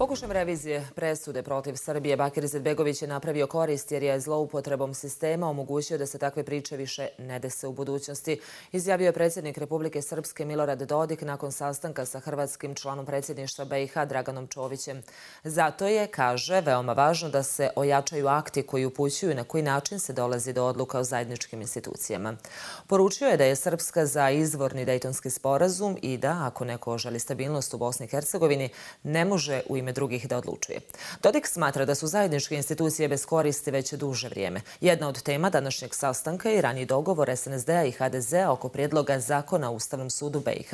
Pokušajem revizije presude protiv Srbije, Bakir Izetbegović je napravio korist jer je zloupotrebom sistema omogućio da se takve priče više ne dese u budućnosti, izjavio je predsjednik Republike Srpske Milorad Dodik nakon sastanka sa hrvatskim članom predsjedništva BiH Draganom Čovićem. Zato je, kaže, veoma važno da se ojačaju akti koji upućuju na koji način se dolazi do odluka o zajedničkim institucijama. Poručio je da je Srpska za izvorni Dejtonski sporazum i da, ako neko želi stabilnost u Bosni i Hercegovini, ne može u ime drugih da odlučuje. Dodik smatra da su zajedničke institucije bez koristi već duže vrijeme. Jedna od tema današnjeg sastanka je raniji dogovor SNSD-a i HDZ-a oko prijedloga zakona o Ustavnom sudu BiH.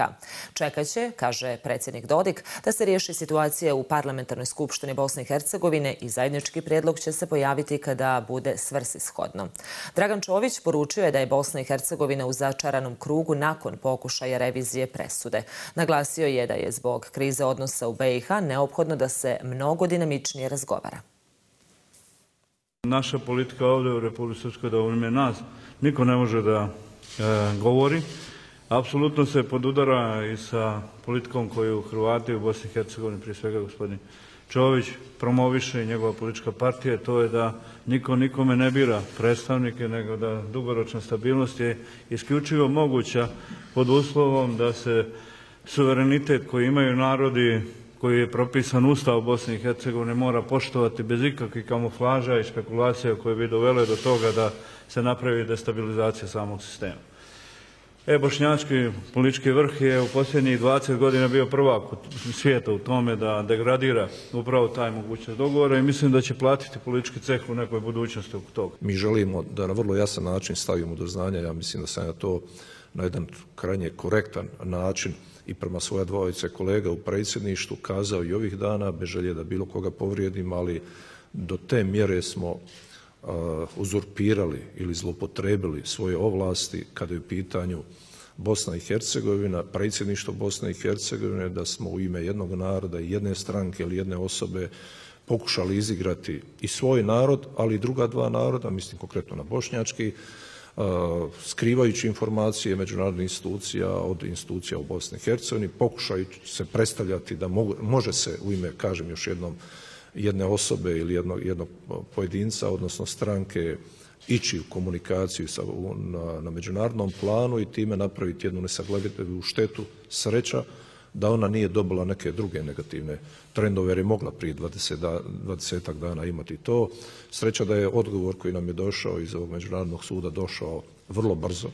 Čekaće, kaže predsjednik Dodik, da se riješi situacija u Parlamentarnoj skupštini Bosne i Hercegovine i zajednički prijedlog će se pojaviti kada bude svrsishodno. Dragan Čović poručio je da je Bosna i Hercegovina u začaranom krugu nakon pokušaja revizije presude. Naglasio je da je zbog krize odnosa u BiH neophodno da se mnogo dinamičnije razgovara. Naša politika ovdje u Republici Srpskoj, da u ime nas niko ne može da govori. Apsolutno se podudara i sa politikom koju Hrvati u Bosni i Hercegovini, prije svega gospodin Čović, promoviše i njegova politička partija, to je da niko nikome ne bira predstavnike, nego da dugoročna stabilnost je isključivo moguća pod uslovom da se suverenitet koji imaju narodi, koji je propisan Ustav Bosne i Hercegovine, mora poštovati bez ikakvih kamuflaža i špekulacija koje bi dovele do toga da se napravi destabilizacija samog sistema. Bošnjački politički vrh je u posljednjih 20 godina bio prvak svijeta u tome da degradira upravo taj mogućnost dogovora i mislim da će platiti politički ceh u nekoj budućnosti oko toga. Mi želimo da na vrlo jasan način stavimo do znanja, ja mislim da sam ja to na jedan krajnje korektan način i prema svoja dvojice kolega u predsjedništvu kazao i ovih dana, bez želje da bilo koga povrijedim, ali do te mjere smo uzurpirali ili zloupotrebili svoje ovlasti kada je u pitanju Bosna i Hercegovina, predsjedništvo Bosne i Hercegovine, da smo u ime jednog naroda i jedne stranke ili jedne osobe pokušali izigrati i svoj narod, ali i druga dva naroda, mislim konkretno na bošnjački, skrivajući informacije međunarodnih institucija od institucija u Bosni i Hercegovini, pokušajući se predstavljati da može se u ime, kažem još jednom, jedne osobe ili jednog pojedinca, odnosno stranke, ići u komunikaciju na međunarodnom planu i time napraviti jednu nesagledivu štetu. Sreća da ona nije dobila neke druge negativne trendove jer je mogla prije 20 dana imati to. Sreća da je odgovor koji nam je došao iz ovog međunarodnog suda došao vrlo brzo.